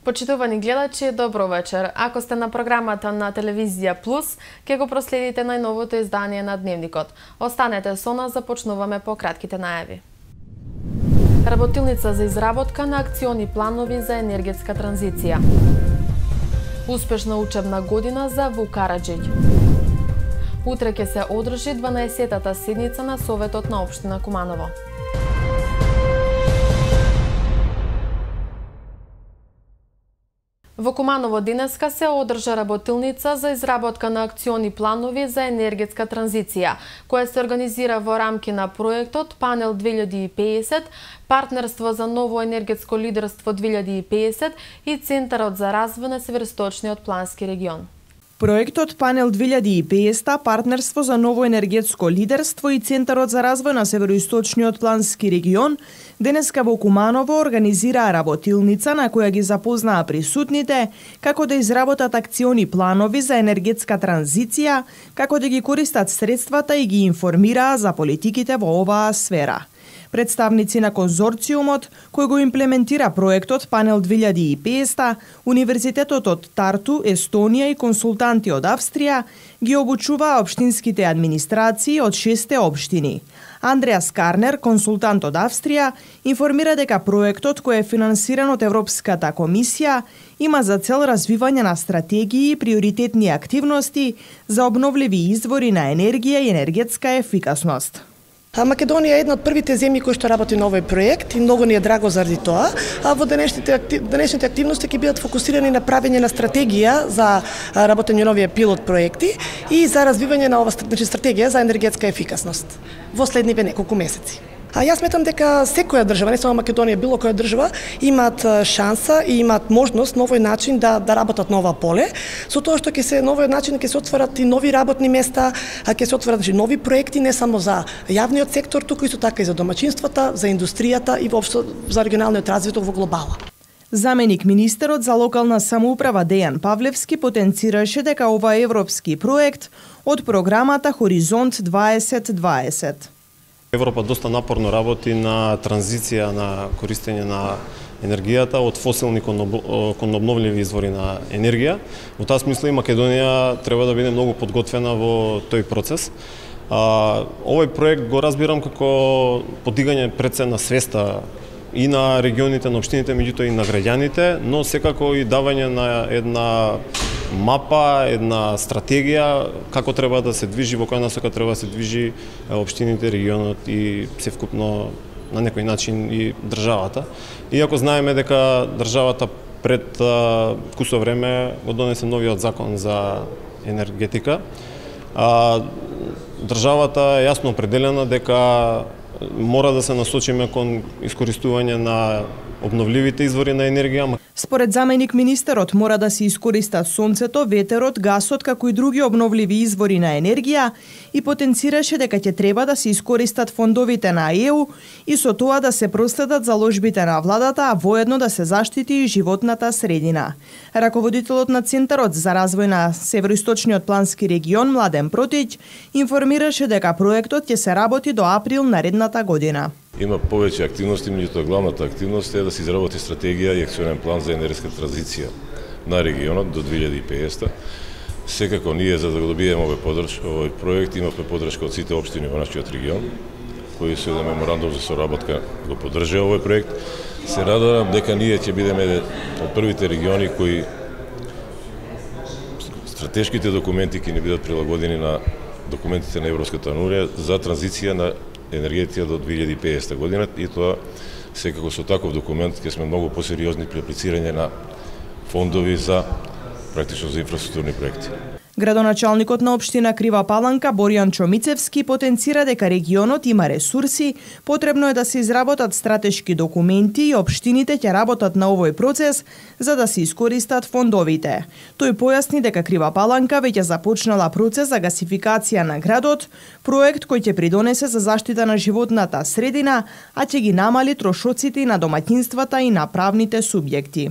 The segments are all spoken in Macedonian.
Почитувани гледачи, добро вечер. Ако сте на програмата на Телевизија Плюс, ќе го проследите најновото издание на Дневникот. Останете со нас, започнуваме по кратките најави. Работилница за изработка на акциони планови за енергетска транзиција. Успешна учебна година за Вук Караџиќ. Утре ќе се одржи 12-тата седница на Советот на општина Куманово. Во Куманово денеска се одржа работилница за изработка на акциони планови за енергетска транзиција, која се организира во рамки на проектот Панел 2050, Партнерство за ново енергетско лидерство 2050 и Центарот за развој на Североисточниот плански регион. Проектот Панел 2050, Партнерство за ново енергетско лидерство и Центарот за развој на Североисточниот плански регион денеска во Куманово организираа работилница на која ги запознаа присутните како да изработат акциони планови за енергетска транзиција, како да ги користат средствата и ги информираа за политиките во оваа сфера. Представници на конзорциумот, кој го имплементира проектот Панел 2050, Универзитетот од Тарту, Естонија и консултанти од Австрија, ги обучуваа општинските администрации од 6 општини. Андреас Карнер, консултант од Австрија, информира дека проектот, кој е финансиран од Европската комисија, има за цел развивање на стратегии и приоритетни активности за обновливи извори на енергија и енергетска ефикасност. Македонија е една од првите земји кои што работи на овој проект и многу ни е драго заради тоа. Во денешните активности ќе бидат фокусирани на правење на стратегија за работење на овие пилот проекти и за развивање на ова стратегија за енергетска ефикасност во следниве неколку месеци. Јас сметам дека секоја држава, не само Македонија, било која држава, имаат шанса и имаат можност на овој начин да работат на ова поле, со тоа што на овој начин ќе се отворат и нови работни места, ќе се отворат нови проекти не само за јавниот сектор, туку исто така и за домаќинствата, за индустријата и воопшто за регионалниот развој во глобала. Заменик министерот за локална самоуправа Дејан Павлевски потенцираше дека ова е европски проект од програмата Хоризонт 2020. Европа доста напорно работи на транзиција на користење на енергијата од фосилни кон обновливи извори на енергија. Во таа смисла и Македонија треба да биде многу подготвена во тој процес. Овој проект го разбирам како подигање пред се на свеста и на регионите, на општините, меѓутоа и на граѓаните, но секако и давање на една мапа, една стратегија како треба да се движи, во која насока треба да се движи општините, регионот и севкупно на некој начин и државата. Иако знаеме дека државата пред кусо време го донесе новиот закон за енергетика, државата е јасно определена дека мора да се насочиме кон искористување на обновливите извори на енергија. Според заменик министерот мора да се искористат сонцето, ветерот, гасот како и други обновливи извори на енергија и потенцираше дека ќе треба да се искористат фондовите на ЕУ и со тоа да се проследат заложбите на владата, а воедно да се заштити и животната средина. Раководителот на Центарот за развој на Североисточниот плански регион Младен Протиќ информираше дека проектот ќе се работи до април наредната година. Има повеќе активности, меѓутоа главната активност е да се изработи стратегија и акционен план за енергетска транзиција на регионот до 2050. Секако ние за да го добиеме овој проект имавме поддршка од сите општини во нашиот регион, кои со еден меморандум за соработка го поддржаа овој проект. Се радувам дека ние ќе бидеме од првите региони кои стратешките документи ќе ни бидат прилагодени на документите на Европската унија за транзиција на енергетика до 2050 година и тоа секако со таков документ ќе сме многу посериозни при аплицирање на фондови за практично за инфраструктурни проекти. Градоначалникот на општина Крива Паланка Боријан Чомицевски потенцира дека регионот има ресурси, потребно е да се изработат стратешки документи и општините ќе работат на овој процес за да се искористат фондовите. Тој појасни дека Крива Паланка веќе започнала процес за гасификација на градот, проект кој ќе придонесе за заштита на животната средина, а ќе ги намали трошоците на домаќинствата и на правните субјекти.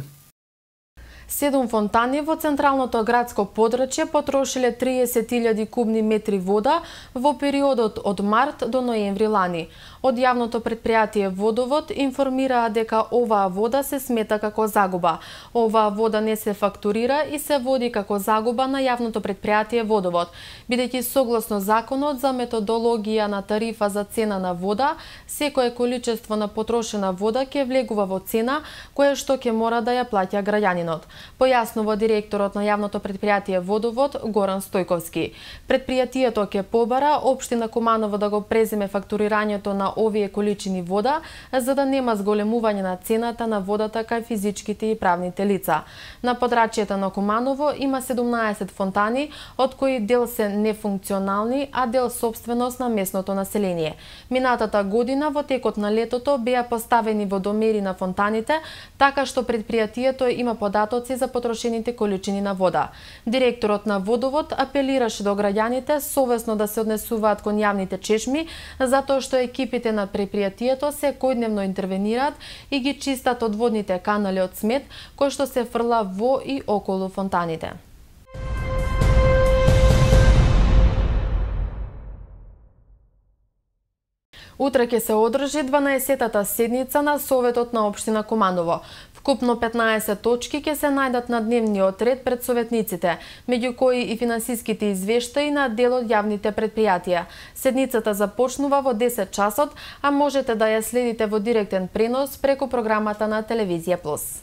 7 фонтани во централното градско подрачје потрошиле 30.000 кубни метри вода во периодот од март до ноември лани. Од јавното претпријатие Водовод информираа дека оваа вода се смета како загуба. Оваа вода не се фактурира и се води како загуба на јавното претпријатие Водовод, бидејќи согласно законот за методологија на тарифа за цена на вода, секое количество на потрошена вода ќе влегува во цена која што ќе мора да ја плаќа граѓанинот, појаснува директорот на јавното претпријатие Водовод Горан Стојковски. Претпријатието ќе побара општина Куманово да го преземе фактурирањето на овие количини вода, за да нема зголемување на цената на водата кај физичките и правните лица. На подрачјето на Куманово има 17 фонтани, од кои дел се нефункционални, а дел собственост на местното население. Минатата година во текот на летото беа поставени водомери на фонтаните, така што претпријатието има податоци за потрошените количини на вода. Директорот на Водовод апелираше до граѓаните совесно да се однесуваат кон јавните чешми, затоа што екипите на претпријатието секојдневно интервенираат и ги чистат одводните канали од смет кој што се фрла во и околу фонтаните. Утре ќе се одржи 12-тата седница на Советот на општина Куманово. Вкупно 15 точки ќе се најдат на дневниот ред пред советниците, меѓу кои и финансиските извештаи на дел од јавните претпријатија. Седницата започнува во 10 часот, а можете да ја следите во директен пренос преку програмата на Телевизија Плюс.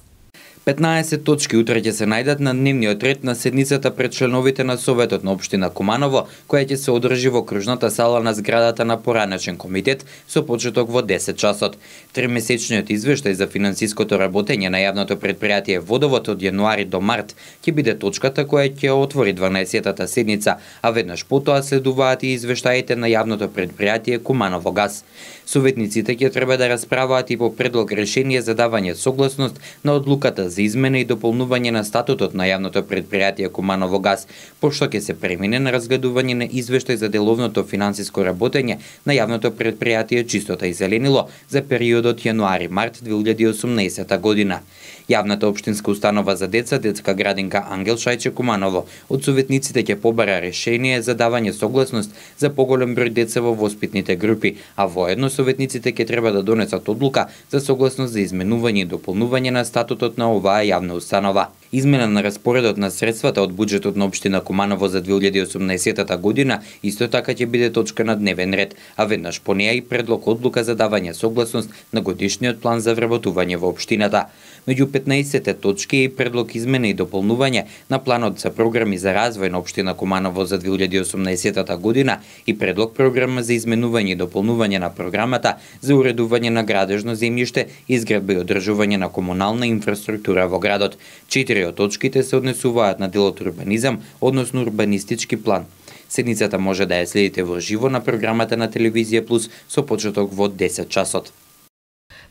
15 точки утре ќе се најдат на дневниот ред на седницата пред членовите на Советот на општина Куманово, која ќе се одржи во кружната сала на зградата на поранешен комитет со почеток во 10 часот. Тримесечниот извештај за финансиското работење на јавното претпријатие Водовод од јануари до март ќе биде точката која ќе отвори 12-тата седница, а веднаш потоа следуваат и извештаите на јавното претпријатие Куманово газ. Советниците ќе треба да расправаат и по предлог решение за давање согласност на одлуката за измена и дополнување на статутот на јавното претпријатие Куманово газ, пошто ќе се премине на разгледување на извештај за деловното финансиско работење на јавното претпријатие Чистота и зеленило за периодот јануари-март 2018 година. Јавната општинска установа за деца, детска градинка Ангел Шајче Куманово, од советниците ќе побара решение за давање согласност за поголем број деца во воспитните групи, а воедно советниците ќе треба да донесат одлука за согласност за изменување и дополнување на статутот на оваа јавна установа. Измена на распоредот на средствата од буџетот на општина Куманово за 2018 година исто така ќе биде точка на дневен ред, а веднаш по неја и предлог одлука за давање согласност на годишниот план за вработување во општината. Меѓу 15 точки е и предлог измена и дополнување на планот за програми за развој на општина Куманово за 2018 година и предлог програма за изменување и дополнување на програмата за уредување на градежно земјиште, изградба и одржување на комунална инфраструктура во градот. 4 од точките се однесуваат на делот урбанизам, односно урбанистички план. Седницата може да ја следите во живо на програмата на Телевизија Плюс со почеток во 10 часот.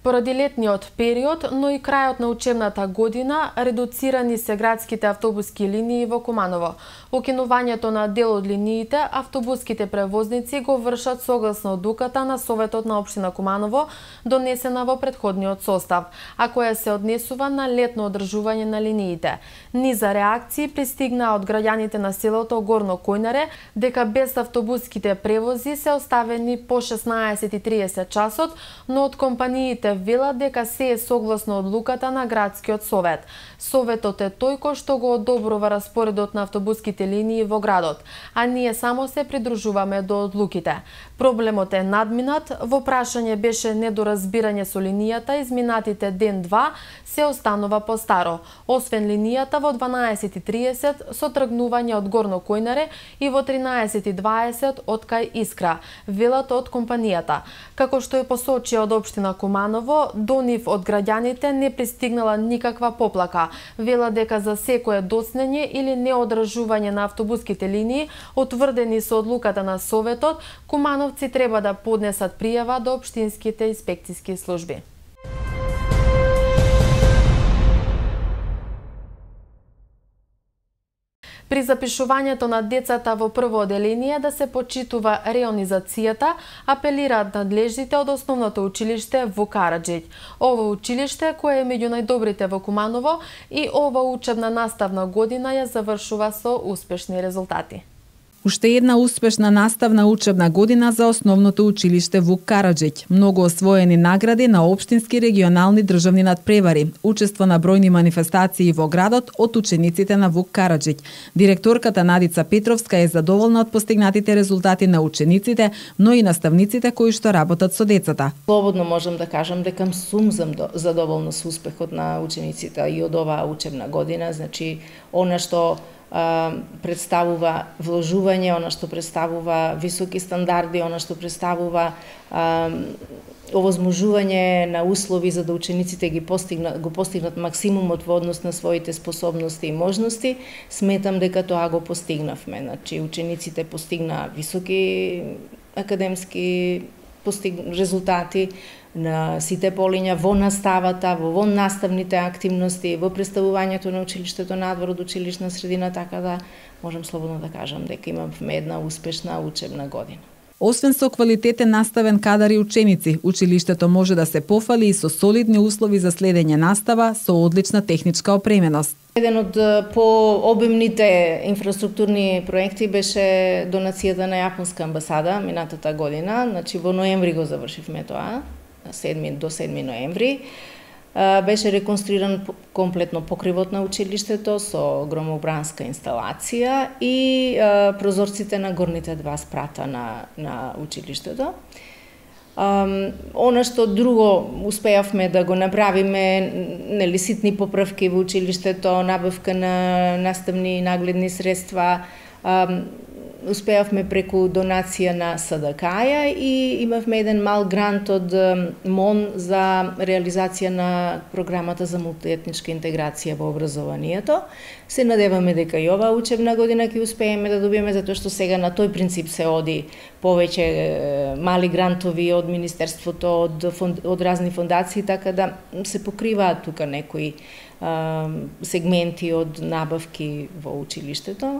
Поради летниот период, но и крајот на учебната година, редуцирани се градските автобуски линии во Куманово. Укинувањето на дел од линиите, автобуските превозници го вршат согласно одлуката на Советот на општина Куманово, донесена во претходниот состав, а која се однесува на летно одржување на линиите. Низа реакции пристигнаа од граѓаните на селото Горно Којнаре, дека без автобуските превози се оставени по 16:30 часот, но од компаниите велат дека се е согласно одлуката на градскиот совет. Советот е тој кој што го одобрува распоредот на автобуските линии во градот, а ние само се придружуваме до одлуките. Проблемот е надминат, во прашање беше недоразбирање со линијата, изминатите ден-два се останува по старо, освен линијата во 12:30 со тргнување од Горно Којнаре и во 13:20 од кај Искра, велат од компанијата. Како што е посочија од општина Куманово, до нив од граѓаните не пристигнала никаква поплака. Вела дека за секое доснење или неодржување на автобуските линии, утврдени со одлуката на Советот, кумановци треба да поднесат пријава до општинските инспекциски служби. При запишувањето на децата во прво одделение да се почитува реонизацијата, апелираат надлежните од основното училиште во Караџиќ. Ово училиште, кое е меѓу најдобрите во Куманово, и ова учебна наставна година ја завршува со успешни резултати. Уште една успешна наставна учебна година за основното училиште Вук Караџиќ. Многу освоени награди на општински регионални државни надпревари, учество на бројни манифестации во градот од учениците на Вук Караџиќ. Директорката Надица Петровска е задоволна од постигнатите резултати на учениците, но и наставниците кои што работат со децата. Слободно можам да кажам дека сум задоволна со успехот на учениците и од оваа учебна година, значи она што представува вложување, она што представува високи стандарди, она што представува овозможување на услови за да учениците го постигнат максимумот во однос на своите способности и можности, сметам дека тоа го постигнавме. Значи учениците постигна високи академски резултати на сите полиња во наставата, во наставните активности, во представувањето на училиштето надвор од училишна средина, така да можам слободно да кажам дека имавме една успешна учебна година. Освен со квалитетен наставен кадар и ученици, училиштето може да се пофали и со солидни услови за следење настава со одлична техничка опременост. Еден од пообимните инфраструктурни проекти беше донацијата на Јапонска амбасада минатата година, значи во ноември го завршивме тоа, до 7 ноември. Беше реконструиран комплетно покривот на училиштето со громобранска инсталација и прозорците на горните два спрата на училиштето. Она што друго успеавме да го направиме, нели ситни поправки во училиштето, набавка на наставни и нагледни средства, успеавме преку донација на СДК-ја и имавме еден мал грант од МОН за реализација на програмата за мултиетничка интеграција во образованието. Се надеваме дека и оваа учебна година ќе успееме да добиеме, затоа што сега на тој принцип се оди повеќе мали грантови од Министерството, од разни фондации, така да се покриваат тука некои сегменти од набавки во училиштето.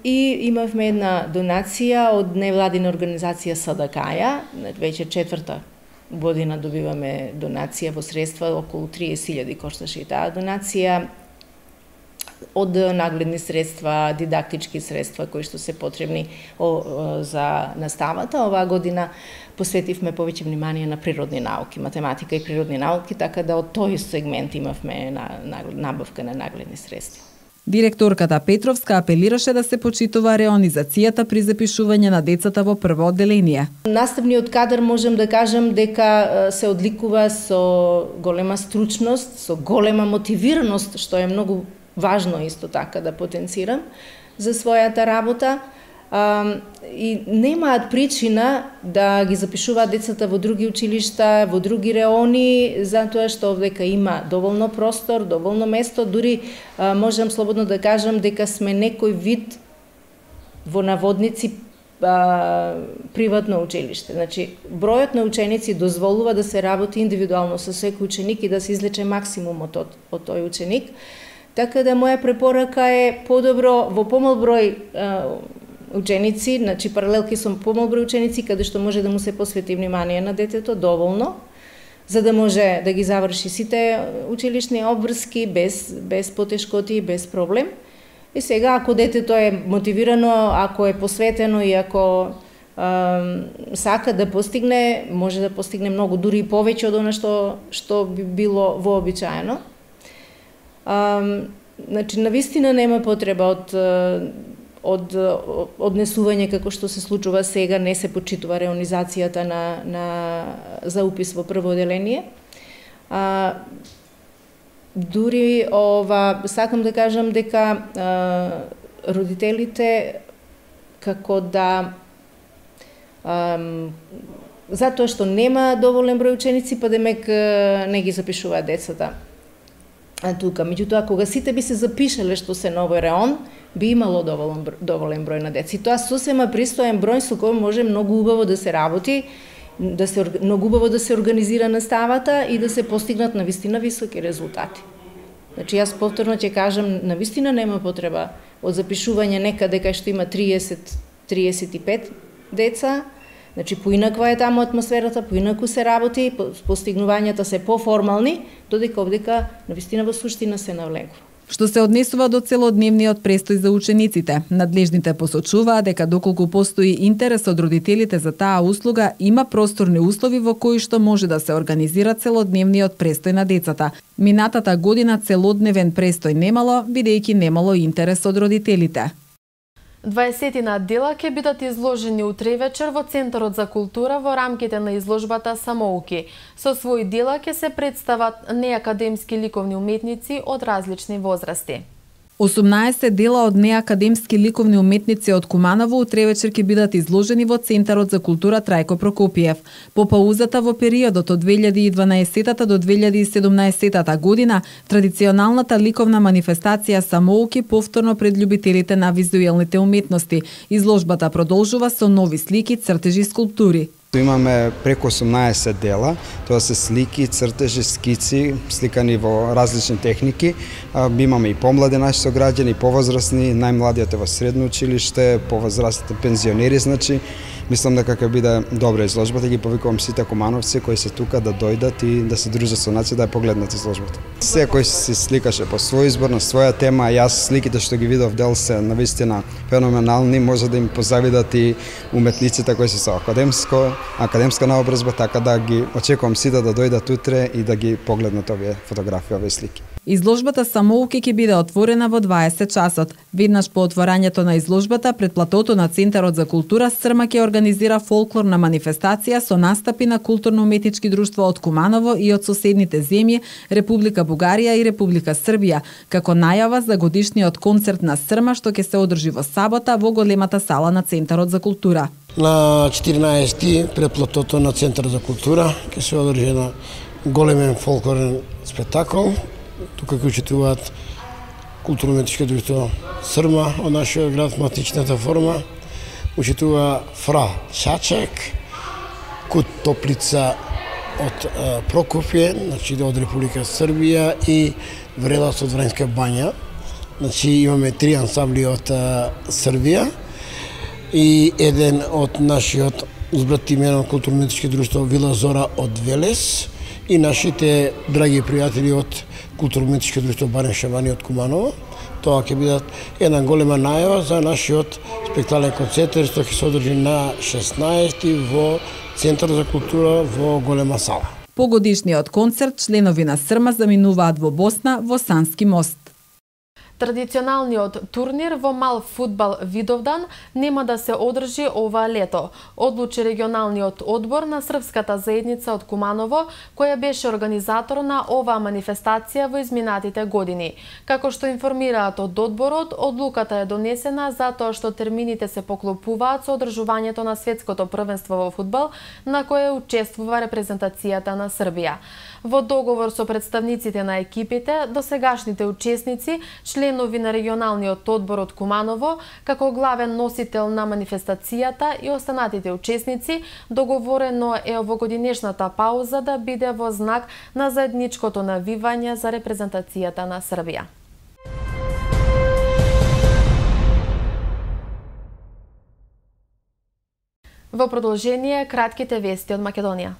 И имавме една донација од невладина организација СДК-ја, веќе 4-та година добиваме донација во средства, околу 30.000 кошташе и таа донација, од нагледни средства, дидактички средства кои што се потребни за наставата. Оваа година посветивме повеќе внимание на природни науки, математика и природни науки, така да од тој сегмент имавме набавка на нагледни средства. Директорката Петровска апелираше да се почитува реонизацијата при запишување на децата во прво одделение. Наставниот кадар можам да кажам дека се одликува со голема стручност, со голема мотивираност, што е многу важно исто така да потенцирам за својата работа. И немаат причина да ги запишуваат децата во други училишта, во други реони, затоа што овдека има доволно простор, доволно место, дури можам слободно да кажам дека сме некој вид во наводници приватно училиште. Значи, бројот на ученици дозволува да се работи индивидуално со секој ученик и да се извлече максимумот од тој ученик. Така да моја препорака е подобро во помал број ученици, значи паралелки со помал број ученици, каде што може да му се посвети внимание на детето доволно, за да може да ги заврши сите училишни обврски без потешкоти и без проблем. И сега, ако детето е мотивирано, ако е посветено и ако сака да постигне, може да постигне многу, дури и повеќе од она што би било вообичаено. Значи, навистина нема потреба од однесување како што се случува сега, не се почитува реонизацијата за упис во прво одделение. Дури сакам да кажам дека родителите како да затоа што нема доволен број ученици, па демек не ги запишуваат децата тука. Меѓутоа, кога сите би се запишале што се новој реон, би имало доволен број на деца. И тоа сосема пристоен број со кој може многу убаво да се работи, многу убаво да се организира наставата и да се постигнат навистина високи резултати. Значи, јас повторно ќе кажам, навистина нема потреба од запишување некаде кај што има 30-35 деца, значи поинаква е таму атмосферата, поинаку се работи, постигнувањата се поформални, додека овдека навистина во суштина се навлегува. Што се однесува до целодневниот престој за учениците, надлежните посочуваат дека доколку постои интерес од родителите за таа услуга, има просторни услови во кои што може да се организира целодневниот престој на децата. Минатата година целодневен престој немало, бидејќи немало интерес од родителите. 20 дела ќе бидат изложени утре вечер во Центарот за култура во рамките на изложбата Самоуки. Со своји дела ќе се представат неакадемски ликовни уметници од различни возрасти. 18 дела од неакадемски ликовни уметници од Куманово утре вечер ќе бидат изложени во Центарот за култура Трајко Прокопиев. По паузата во периодот од 2012 до 2017 година, традиционалната ликовна манифестација Самоуки повторно пред љубителите на визуелните уметности. Изложбата продолжува со нови слики, цртежи и скулптури. Имаме преку 18 дела, тоа се слики, цртежи, скици, сликани во различни техники. Имаме и помлади наши сограѓани, и повозрасни, најмладиот е во средно училиште, повозрастните пензионери, значи мислам дека ќе биде добра изложбата, ги повикувам сите кумановци кои се тука да дојдат и да се дружат со нација, да ја погледнат изложбата. Секој се сликаше по свој избор, на своја тема, јас сликите што ги видов дел се навистина феноменални, може да им позавидат и уметниците кои се со академска наобразба, така да ги очекувам сите да дојдат утре и да ги погледнат овие фотографии, овие слики. Изложбата Самоуки ќе биде отворена во 20 часот. Веднаш по отворањето на изложбата пред платото на Центарот за култура Срма ќе организира фолклорна манифестација со настапи на културно-уметнички друштва од Куманово и од соседните земји Република Бугарија и Република Србија, како најава за годишниот концерт на Срма што ќе се одржи во сабота во големата сала на Центарот за култура. На 14 пред платото на Центарот за култура ќе се одржи на големен фолклорен спектакл. Тука ќе учествуваат културно-уметничко друштво Срма од нашиот град, матичната форма. Учествува Фра Чачек, Кут Топлица од Прокопје, значи од Република Србија и Врелас од Врањска бања. Значи имаме 3 ансамбли од Србија и еден од нашиот узбратимено културно-уметничко друштво Вила Зора од Велес и нашите драги пријатели од културно-уметничко друштво Барен Шабани од Куманово. Тоа ќе бидат една голема најава за нашиот спектаклен концерт што ќе се одржи на 16 во Центар за култура во голема сала. По годишниот концерт членови на Срма заминуваат во Босна во Сански мост. Традиционалниот турнир во мал фудбал Видовдан нема да се одржи ова лето, одлучи регионалниот одбор на српската заедница од Куманово, која беше организатор на оваа манифестација во изминатите години. Како што информираат од одборот, одлуката е донесена затоа што термините се поклопуваат со одржувањето на светското првенство во фудбал, на кое учествува репрезентацијата на Србија. Во договор со представниците на екипите, досегашните учесници, членови на регионалниот одбор од Куманово, како главен носител на манифестацијата и останатите учесници, договорено е овогодинешната пауза да биде во знак на заедничкото навивање за репрезентацијата на Србија. Во продолжение, кратките вести од Македонија.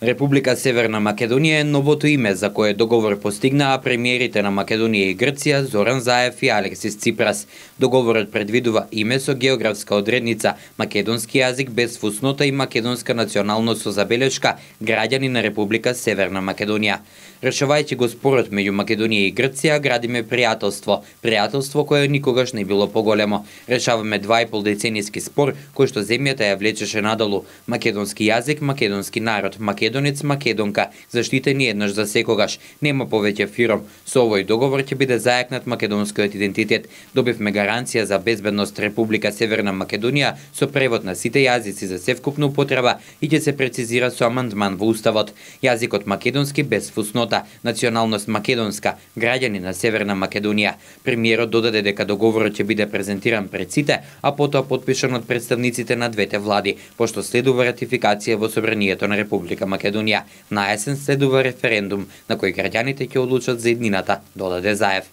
Република Северна Македонија е новото име за кое договор постигнаа премиерите на Македонија и Грција Зоран Заев и Алексис Ципрас. Договорот предвидува име со географска одредница, македонски јазик без фуснота и македонска националност со забелешка граѓани на Република Северна Македонија. Решавајќи го спорот меѓу Македонија и Грција, градиме пријателство кое никогаш не било поголемо. Решаваме 2,5 деценијски спор кој што земјата ја влечеше надолу. Македонски јазик, македонски народ, македонец, македонка, заштитени еднаш за секогаш. Нема повеќе фиром. Со овој договор ќе биде зајакнат македонскиот идентитет. Добивме гаранција за безбедност Република Северна Македонија со превод на сите јазици за севкупна употреба и ќе се прецизира со амандман во уставот. Јазикот македонски без фуснота, националност македонска, граѓани на Северна Македонија. Премиерот додаде дека договорот ќе биде презентиран пред сите, а потоа потпишан од представниците на двете влади, пошто следува ратификација во Собранието на Република Македонија. На есен следува референдум на кој граѓаните ќе одлучат за еднината, додаде Заев.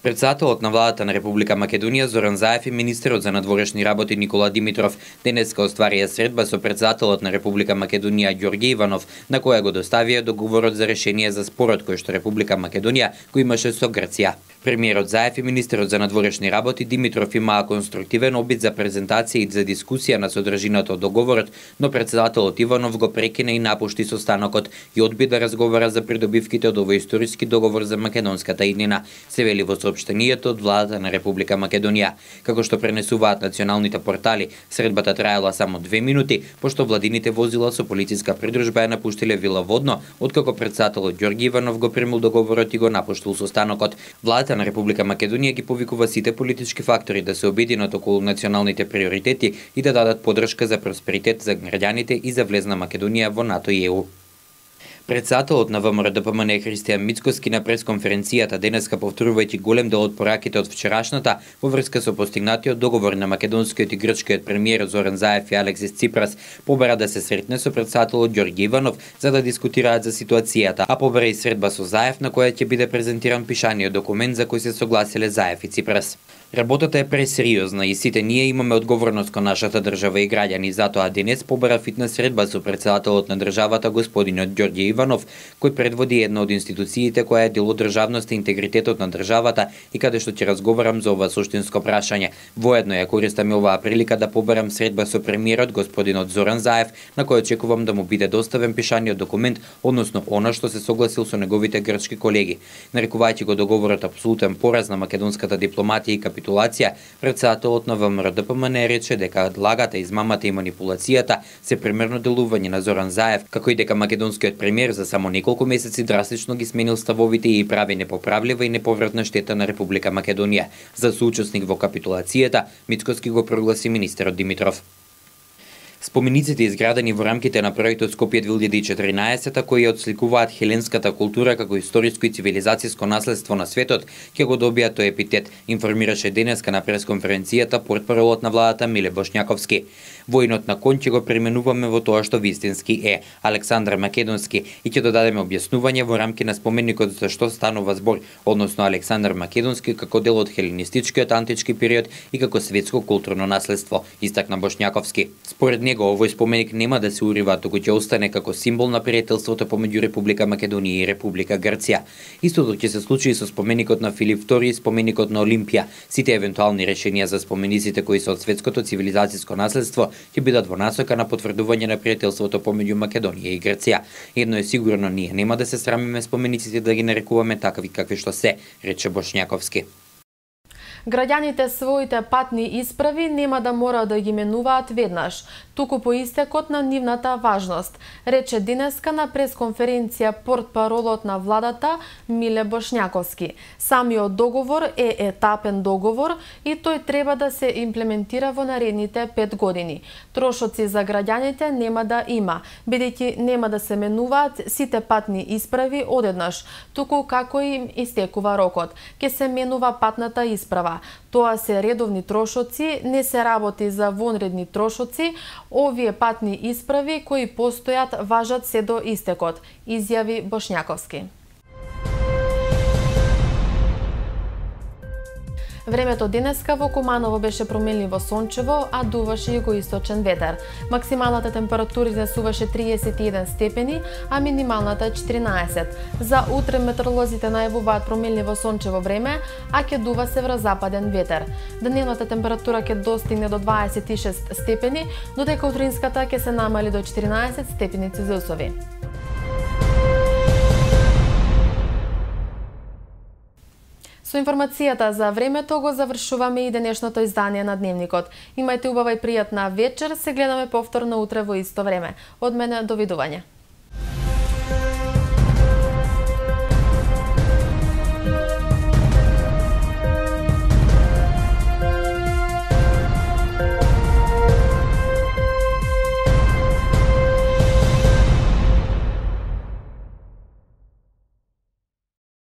Председателот на владата на Република Македонија Зоран Заев и министерот за надворешни работи Никола Димитров денеска остварија средба со председателот на Република Македонија Ѓорѓе Иванов, на која го доставија договорот за решение за спорот кој што Република Македонија го имаше со Грција. Премиерот Заев и министерот за надворешни работи Димитров имаа конструктивен обид за презентација и за дискусија на содржината од договорот, но председателот Иванов го прекина и напушти состанокот и одби да разговара за придобивките од овој историски договор за македонската иднина, се вели во соопштенијето од владата на Република Македонија. Како што пренесуваат националните портали, средбата траела само 2 минути, пошто владините возила со полициска придружба ја напуштиле Вила Водно, откако председателот Ѓорѓе Иванов го примил договорот и го напуштил состанокот. Владата на Република Македонија ги повикува сите политички фактори да се обединат околу националните приоритети и да дадат поддршка за просперитет за граѓаните и за влез на Македонија во НАТО и ЕУ. Председателот на ВМРО-ДПМН Христијан Мицкоски на пресконференцијата денеска повторувајќи голем дел од пораките од вчерашната во врска со постигнатиот договор на македонскиот и грчкиот премиер Зоран Заев и Алексис Ципрас, побара да се сретне со председателот Ѓорѓе Иванов за да дискутираат за ситуацијата, а побара и средба со Заев на која ќе биде презентиран пишаниот документ за кој се согласиле Заев и Ципрас. Работата е пресериозна и сите ние имаме одговорност кон нашата држава и граѓани, затоа денес побара фитна средба со председателот на државата господинот Ѓорѓе Иванов, кој предводи една од институциите која е дел од државноста и интегритетот на државата и каде што ќе разговарам за ова суштинско прашање. Воедно ја користам и оваа прилика да побарам средба со премиерот господинот Зоран Заев, на кој очекувам да му биде доставен пишаниот документ, односно она што се согласил со неговите грчки колеги. Нарекувајќи го договорот апсолутен пораз на македонската дипломатија и капитулација, председателот на ВМРО-ДПМН рече дека лагата, измамата и манипулацијата се примерно делување на Зоран Заев, како и дека македонскиот премиер за само неколку месеци драстично ги сменил ставовите и прави непоправлива и неповратна штета на Република Македонија. За соучесник во капитулацијата, Мицкоски го прогласи министерот Димитров. Спомениците изградени во рамките на проектот Скопје 2014, кои отсликуваат хеленската култура како историско и цивилизацијско наследство на светот, ќе го добијат тој епитет, информираше денеска на пресконференцијата портпаролот на владата Миле Бошњаковски. Воинот на кон ќе го преименуваме во тоа што вистински е, Александар Македонски, и ќе додадеме објаснување во рамки на споменикот за што станува збор, односно Александар Македонски како дел од хеленистичкиот антички период и како светско културно наследство, истакна Бошњаковски. Според него овој споменик нема да се урива, туку ќе остане како символ на пријателството помеѓу Република Македонија и Република Грција. Истото ќе се случи и со споменикот на Филип II и споменикот на Олимпија. Сите евентуални решенија за спомениците кои се од светското цивилизацијско наследство ќе бидат во насока на потврдување на пријателството помеѓу Македонија и Грција. Едно е сигурно, ние нема да се срамиме спомениците да ги нарекуваме такви какви што се, рече Бошњаковски. Граѓаните своите патни исправи нема да мора да ги менуваат веднаш, туку по истекот на нивната важност, рече денеска на пресконференција портпаролот на владата Миле Бошњаковски. Самиот договор е етапен договор и тој треба да се имплементира во наредните 5 години. Трошоци за граѓаните нема да има, бидејќи нема да се менуваат сите патни исправи одеднаш, туку како им истекува рокот. Ке се менува патната исправа. Тоа се редовни трошоци, не се работи за вонредни трошоци. Овие патни исправи кои постојат важат се до истекот, изјави Бошњаковски. Времето денеска во Куманово беше променливо сончево, а дуваше југоисточен ветер. Максималната температура изнесуваше 31 степени, а минималната 14. За утре метеоролозите најавуваат променливо сончево време, а ќе дува северозападен ветер. Дневната температура ќе достигне до 26 степени, додека утринската ќе се намали до 14 степени Целзиусови. Со информацијата за времето го завршуваме и денешното издание на Дневникот. Имајте убава и пријатна вечер, се гледаме повторно утре во исто време. Од мене, довидување.